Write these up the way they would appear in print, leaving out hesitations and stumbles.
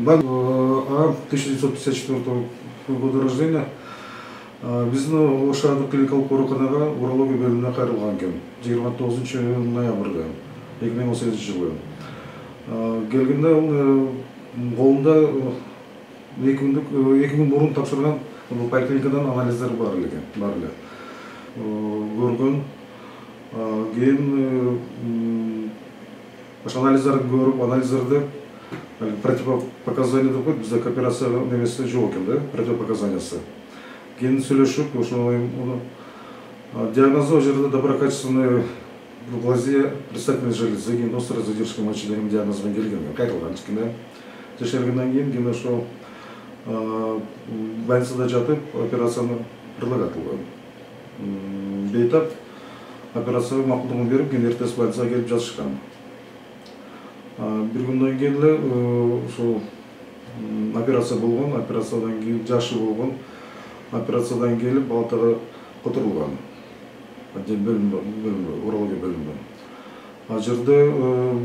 1954 года рождения. Биздин Ошадык клиникалык ооруканага урология бөлүмүнө кайрылган экен 29 ноябрда 2018 жылы. Келгенде ал колунда 2 күн мурун тапшырган поликлиникадан анализдер бар эле. Көргөн. Кийин анализдерди көрүп, анализдерде противопоказания деп коет, бизде операция немеси жок экен да, противопоказаниясы. Кийин сүйлөшүп, ошо диагнозу жерде доброкачественная глазия предстательной железы, кийин острая задержка мочи деген диагноз менен келген, кайрылган кичине. Текшергенден кийин ошо больницада жатып операцияны предлагать кылган. Бейтап операцияга макулдугун берип, кийин эртеси больницага келип жатышкан. Bir günden келе ошо операция болгон, операциядан кийин жашы болгон, операциядан келип палатага которулган. Урология бөлүмүнө. Ал жерде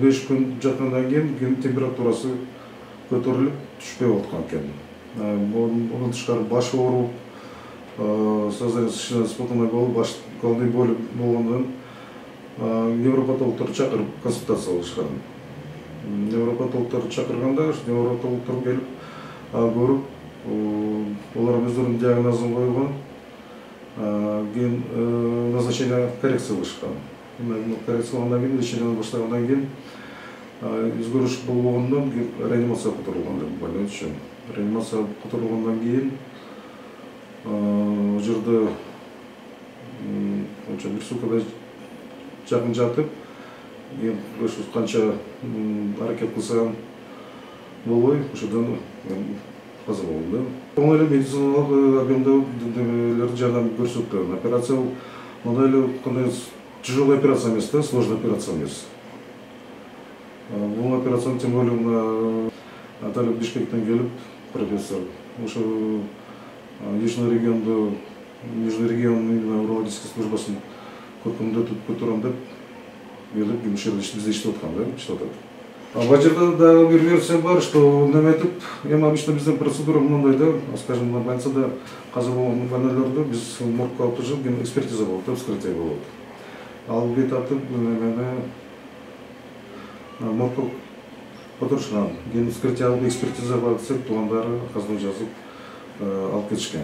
5 күн жаткандан кийин температурасы көтөрүлүп түшпөй аткан экен. Мунун тышкары башы ооруп, сознание спутанный болуп, головной боль болгондон невропатологдорду чакырып консультация кылышкан. Невропатологдор чакырганда, невропатологдор келип көрүп, олар өздөрүнүн диагнозун койгон. Кийин назначение коррекция кылышкан. Коррекция кылгандан кийин, лечениени баштагандан кийин өзгөрүш болбогондон реанимацияга которулган деп больной үчүн. Реанимацияга которулгандан кийин ал жерде бир суткада жакын жатып, ошо канча аракет кылсам болбой, ошодон каза болгон да. Оңой эле медициналык объемдо жардам көрсөткөн. Операция мындай эле кандай тяжелый операция эмес да, сложный операция эмес. Бул операцияны тем более Наталья Бишкектен келип, профессор, ошо Южный регион урологический службасын көркөмдөтүп көтөрөм деп келип, бизде иштеп аткан да, иштеп атат. Ал жерде дагы бир версия бар, что неметип, эми обычно биздин процедура мындай да, скажем, на больницада каза болгон больнойлорду биз моргко алып чыгып, кийин экспертиза болот, вскрытие болот. Ал бейтаптып моргко которушкан, кийин вскрытие алып экспертиза бар десек, туугандары каздын жазып алып кетишкен.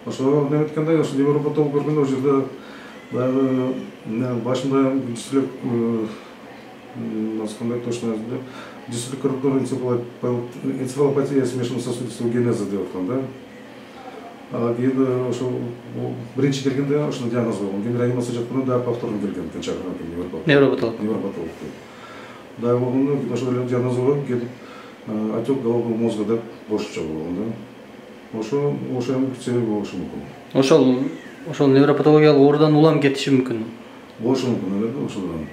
Ошо неметкенде, ошо невропатолог көргөндө, ол жерде дагы башында дислек, кандай точно дислокорректор энцефалопатия смешанно-сосудистого генеза деп аткан да. Кийин ошо биринчи келгенде ошондой диагноз койгон. Кийин реанимация жатканда дагы повторно келген экен, чакырган невропатолог. Дагы болгондо ошол эле диагноз койгон, кийин отек головного мозга деп бошчу болгон да. Ошо себеби болушу мүмкүн. Ошол невропатологиялык оорудан улам кетиши мүмкүн. Болушу мүмкүн эле да ошодан.